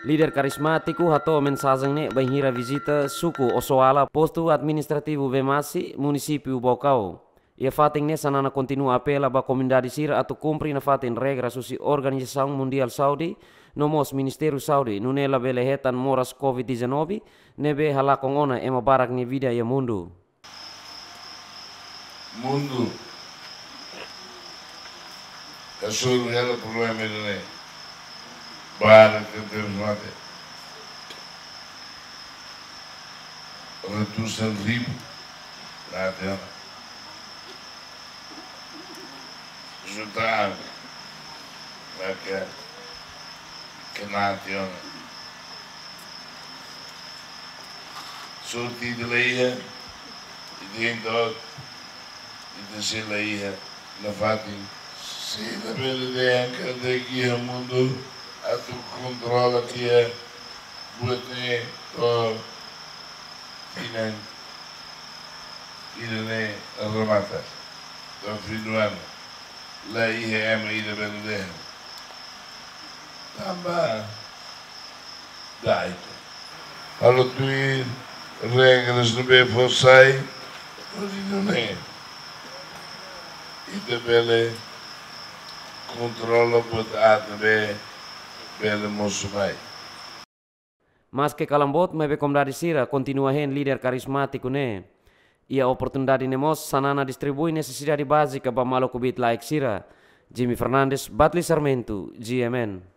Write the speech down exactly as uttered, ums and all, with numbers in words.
Líder karizmátiku hato'o mensajen ne'e bainhira vizita suku Osoala, postu administrativu Vemasi, munisípiu Baucau. Iha fatin ne'e Xanana kontinua apela ba komunidade sira atu kumpre nafatin regras husi Organizasaun Mundiál Saúde, no mós Ministériu Saúde, nune'e labele hetan moras COVID dezanove, ne'ebé halakon ona ema barak nia vida iha mundu. Mundu hasoru hela problema ida-ne'e. Barak tebes mate. Ratusan ribu mate ona. Jutaan maka kena tiha ona. Sorte ida la iha, ida entaun, ida sei la iha nafatin. Sei labele dehan katak iha mundu atu kontrola tiha buat ne'e to'o tinan ida-ne'e remata, to'o fim do ano. La iha ema ida bele dehan. Tanba da'et. Halo tuir regras ne'ebé fó sai, hodi nune'e ita bele kontrola buat aat ne'ebé bele mosu mai. Maske kalan boot, maibé komunidade sira kontinua hein líder karizmátiku ne'e. Iha oportunidade ne'e mós, Xanana distribui nesesidade bázika ba maluk kbiit-laek sira. Jimmy Fernandes, Batli Sarmento, G M N.